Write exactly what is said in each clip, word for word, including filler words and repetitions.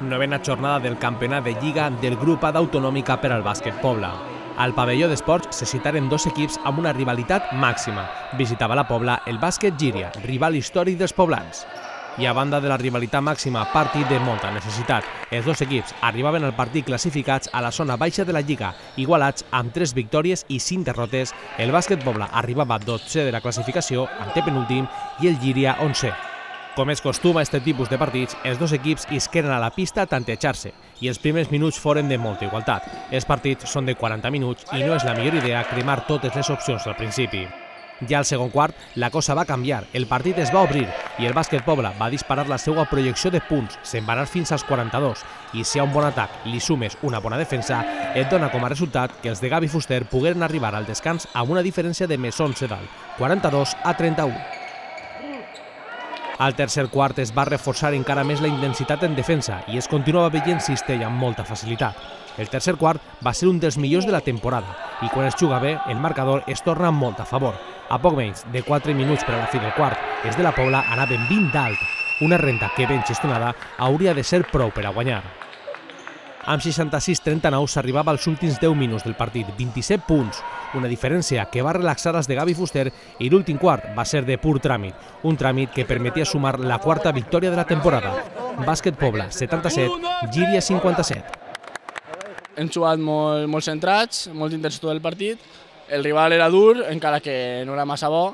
novena jornada del campionat de Lliga del grup A d'Autonòmica per al bàsquet Pobla. Al pavelló d'esports se citaren dos equips amb una rivalitat màxima. Visitava la Pobla el bàsquet Llíria, rival històric dels poblans. I a banda de la rivalitat màxima, partit de molta necessitat. Els dos equips arribaven al partit classificats a la zona baixa de la Lliga, igualats amb tres victòries i cinc derrotes. El bàsquet Pobla arribava dotzè de la classificació, antepenúltim, i el Llíria onzè. Com és costum a aquest tipus de partits, els dos equips isqueren a la pista a tantejar-se i els primers minuts foren de molta igualtat. Els partits són de quaranta minuts i no és la millor idea cremar totes les opcions al principi. Ja al segon quart, la cosa va canviar, el partit es va obrir i el bàsquet Pobla va disparar la seva projecció de punts, se'n va anar fins als quaranta-dos, i si a un bon atac li sumes una bona defensa, et dona com a resultat que els de Gavi Fuster pogueren arribar al descans amb una diferència de més onze dalt, quaranta-dos a trenta-u. Al tercer quart es va reforçar encara més la intensitat en defensa i es continuava veient cistell amb molta facilitat. El tercer quart va ser un dels millors de la temporada i quan es juga bé, el marcador es torna molt a favor. A poc menys de quatre minuts per a la fi del quart, els de la Pobla anaven vint d'alt. Una renta que ben gestionada hauria de ser prou per a guanyar. Amb seixanta-sis a trenta-nou s'arribava als últims deu minuts del partit, vint-i-set punts, una diferència que va relaxar els de Gavi Fuster i l'últim quart va ser de pur tràmit, un tràmit que permetia sumar la quarta victòria de la temporada. Bàsquet Pobla, setanta-set, Llíria, cinquanta-set. Hem jugat molt, molt centrats, molt intensitat del partit. El rival era dur, encara que no era massa bo,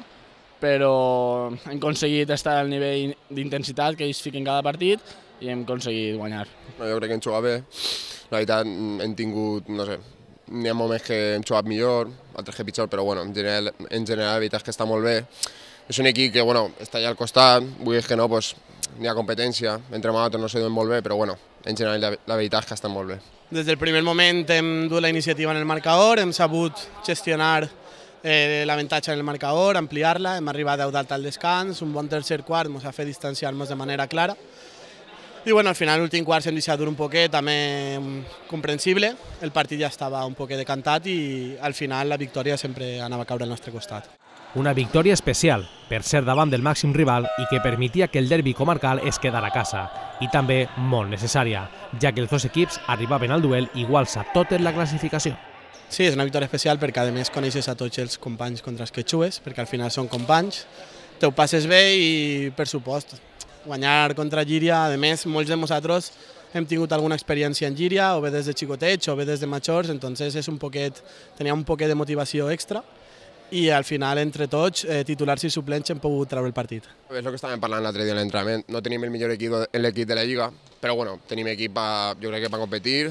però hem aconseguit estar al nivell d'intensitat que ells fiquen cada partit i hem aconseguit guanyar. Jo crec que hem jugat bé. La veritat, hem tingut, no sé, n'hi ha moments que hem jugat millor, altres que pitjor, però bueno, en general, en general la veritat és que està molt bé. És un equip que bueno, està allà al costat, vull dir que no, pues, n'hi ha competència, entre nosaltres no se duen molt bé, però bueno, en general la, la veritat és que estan molt bé. Des del primer moment hem dut la iniciativa en el marcador, hem sabut gestionar eh, l'avantatge en el marcador, ampliar-la, hem arribat deu dalt al descans, un bon tercer quart ens ha fet distanciar-nos de manera clara. I bueno, al final l'últim quart s'hem deixat dur un poquet, també comprensible, el partit ja estava un poquet decantat i al final la victòria sempre anava a caure al nostre costat. Una victòria especial, per ser davant del màxim rival i que permetia que el derbi comarcal es quedara a casa, i també molt necessària, ja que els dos equips arribaven al duel iguals a totes la classificació. Sí, és una victòria especial perquè a més coneixes a tots els companys contra els que jugues, perquè al final són companys, te ho passes bé i per supost, guanyar contra Llíria, a més molts de nosaltres hem tingut alguna experiència en Llíria, o bé des de xicotets o bé des de majors, entonces és un poquet, tenia un poquet de motivació extra i al final entre tots, eh, titulars i suplents, hem pogut treure el partit. És el que estàvem parlant l'altre dia en l'entrenament, no tenim el millor equip en l'equip de la Lliga, però bueno, tenim equip pa, jo crec que per competir,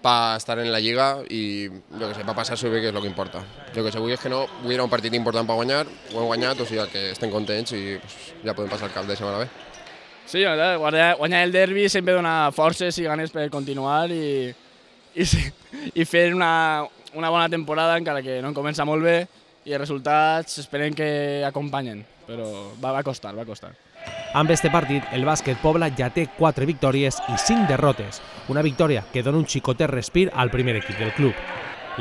per estar en la Lliga i jo que sé, per passar-s'ho bé, que és el que importa. Jo que sé, avui és que no, avui era un partit important per guanyar, ho hem guanyat, o sigui que estem contents i pues, ja podem passar el cap de setmana bé. Sí, guanyar el derbi sempre dona forces i ganes per continuar i, i, i fer una, una bona temporada, encara que no comença molt bé, i els resultats esperem que acompanyen, però va, va costar, va costar. Amb este partit, el bàsquet Pobla ja té quatre victòries i cinc derrotes, una victòria que dona un xicotet respir al primer equip del club.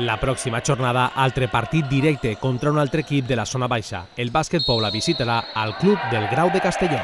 La pròxima jornada, altre partit directe contra un altre equip de la zona baixa. El bàsquet Pobla visitarà al club del Grau de Castelló.